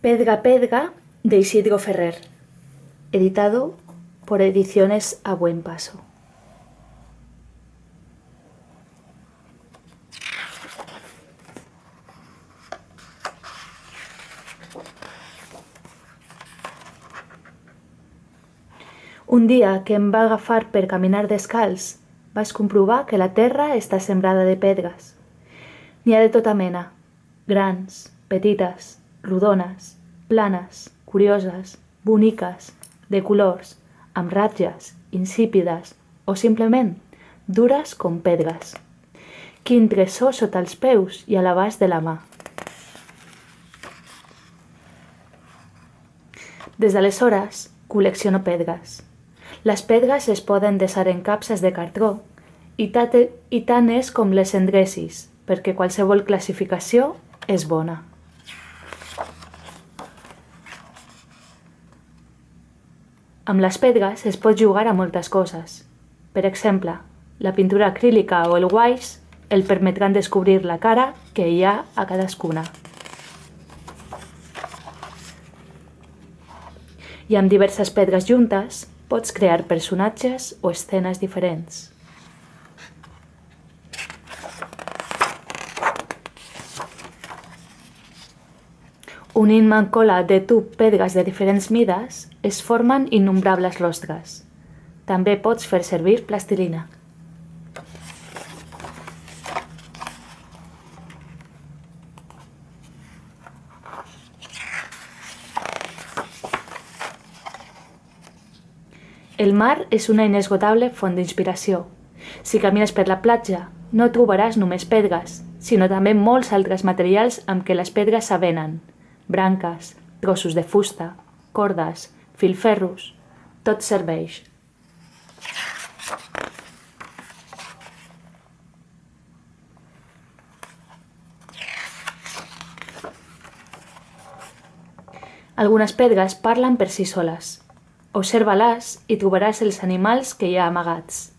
Pedga Pedga de Isidro Ferrer, editado por Ediciones A Buen Paso. Un dia que em va agafar per caminar descalç, vaig comprovar que la terra està sembrada de pedres. N'hi ha de tota mena, grans, petites, rodones, planes, curioses, boniques, de colors, amb ratlles, insípides o simplement dures com pedres. Quin tresor sota els peus i a l'abast de la mà. Des d'aleshores col·lecciono pedres. Les pedres es poden desar en capses de cartró i tant és com les endrecis, perquè qualsevol classificació és bona. Amb les pedres es pot jugar a moltes coses. Per exemple, la pintura acrílica o el guaix el permetran descobrir la cara que hi ha a cadascuna. I amb diverses pedres juntes pots crear personatges o escenes diferents. Unint-me en cola de tub pedres de diferents mides, es formen innombrables rostres. També pots fer servir plastilina. El mar és una inesgotable font d'inspiració. Si camines per la platja, no trobaràs només pedres, sinó també molts altres materials amb què les pedres s'avenen. Branques, trossos de fusta, cordes, filferros, tot serveix. Algunes pedres parlen per si soles. Observa-les i trobaràs els animals que hi ha amagats.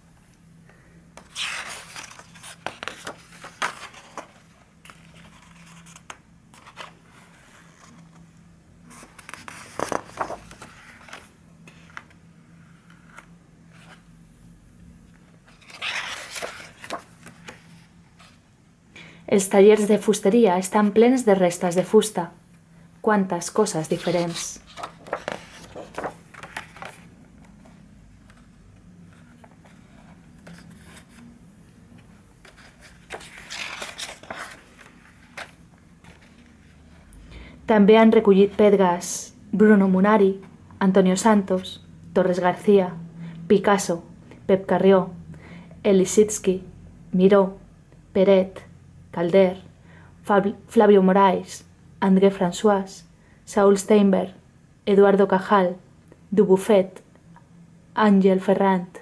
Els tallers de fusteria estan plens de restes de fusta. Quantes coses diferents! També han recollit pedres Bruno Munari, Antonio Santos, Torres García, Picasso, Pep Carrió, Lissitzky, Miró, Peret, Calder, Flavio Moraes, André François, Saúl Steinberg, Eduardo Cajal, Dubuffet, Àngel Ferrand,